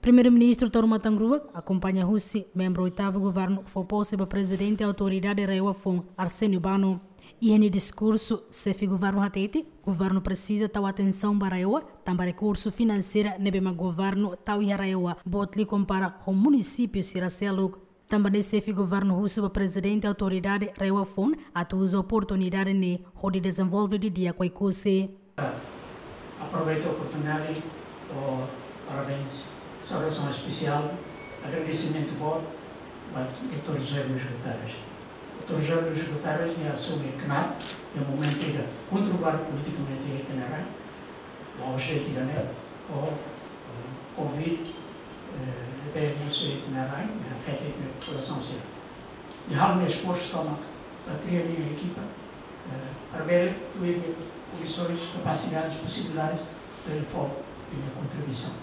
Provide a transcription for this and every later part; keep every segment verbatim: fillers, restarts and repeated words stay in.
Primeiru-Ministru Taur Matan Ruak akompaña husi membru oitavu governu fó pose ba Prezidente Autoridade RAEOA Foun, Arsénio Bano. Iha nia diskursu, xefe governu hatete, governu presiza tau atensaun ba RAEOA, tanba rekursu finanseiru ne'ebé mak governu tau iha RAEOA boot liu kompara ho munisípiu sira seluk. Tanba ne'e xefe governu husu ba Prezidente Autoridade RAEOA Foun atu uza oportunidade ne'e hodi dezenvolve didi'ak Oekusi. Aproveita oportunidade ho parabéns, saudasaun espesiál, agradesimentu boot ba doutór José Luís Guterres. Doutór José Luís Guterres nia asume knaar iha momentu ida kontroversu politikamente iha ita-nia rai, la'ós de'it ida-ne'e, ho, eh, covid, eh, ne'ebé mosu iha ita-nia rai, ne'e afeta ita-nia populasaun sira. Nia halo nia esforsu tomak, nia kria nia ekipa, eh, para bele tuir nia kondisoens, kapasidades, posibilidades, para bele fó nia kontribuisaun.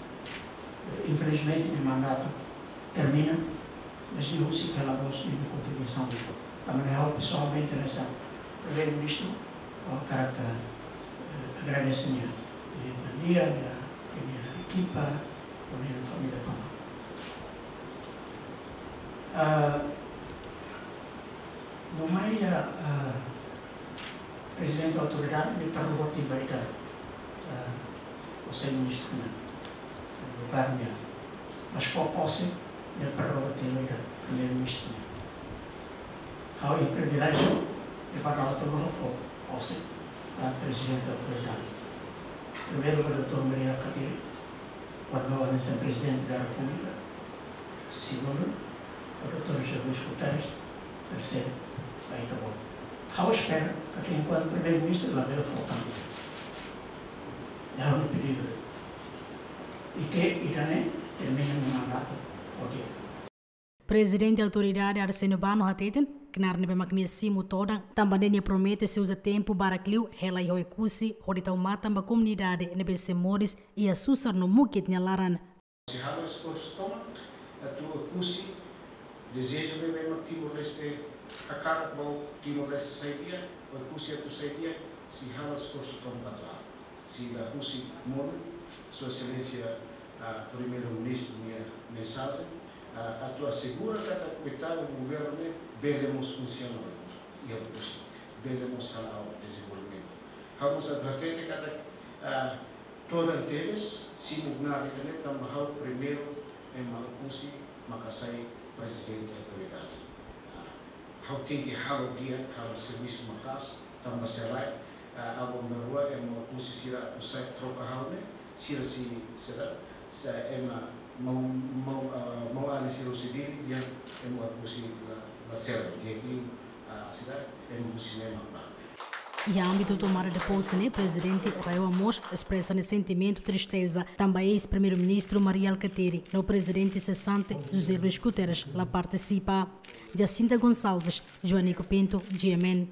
Eh, infelizmente, nia mandatu termina, mas nia husik hela mós nia kontribuisaun. Tanba ne'e ha'u pesoalmente hanesan Primeiru-Ministru, ha'u hakarak, eh, agradese nia, nia, nia, nia ekipa, ho nia família tomak. Ah, no mai, ah, ah, Prezidente Autoridade nia prerrogativa ida, ah, Konsellu Ministru nian, governu nian. Mas fó pose nia prerrogativa ida Primeiru-Ministru nian. Ha'u iha priviléjiu de pagar outro fó pose ba Prezidente Autoridade. Primeiru ba doutór Mari Alkatiri, kuandu ha'u hanesan Prezidente da Repúblika, segundu, ba doutór José Luís Guterres, terseiru, ba ita-boot. Ha'u espera katak enkuantu Primeiru-Ministru labele fó tan ida. Ha'u-nia pedidu. I ke ida-ne'e termina nia mandatu ho di'ak. Prezidente Autoridade Arsénio Bano hateten, knaar ne'ebé mak nia simu todan, tanba ne'e nia promete sei uza tempu barak liu hela iha Oekusi, hodi tau matan ba komunidade ne'ebé sei moris iha susar no mukit nia laran. Sei halo esforsu tomak atu Oekusi, dezeju ne'ebé mak Timor-Leste hakarak ba Timor-Leste sai di'ak, Oekusi atu sai di'ak, sei halo esforsu tomak atu halo. Sei la husik monu, Sua Exelénsia, ah, Primeiru-Ministru nia mensajen, ah, atu asegura katak oitavu governu ne'e bele mós funsiona iha Oekusi, bele mós hala'o dezenvolvimentu. Ha'u mós atu hatete katak, ah, todan tebes, simu knaar ida-ne'e tanba ha'u primeiru ema Oekusi maka sai Prezidente Autoridade. Ah, ha'u tenke halo di'ak, halo servisu maka'as, tanba se lae, ah, aban-bainrua ema Oekusi sira atu sai troka ha'u ne'e, sira sei, sira, se ema mau, mau, ah, mau alin sira husi Dili, dehan ema Oekusi la, la serve, dehan liu, ah, sira, ema husi ne'e mak bá. Iha ámbitu tomada de pose ne'e, Prezidente RAEOA mós espresa nia sentimentu tristeza, tanba eis-Primeiru-Ministru Mari Alkatiri, no Prezidente sesante José Luís Guterres la partisipa. Jacinta Gonçalves, Joanico Pinto, G M N.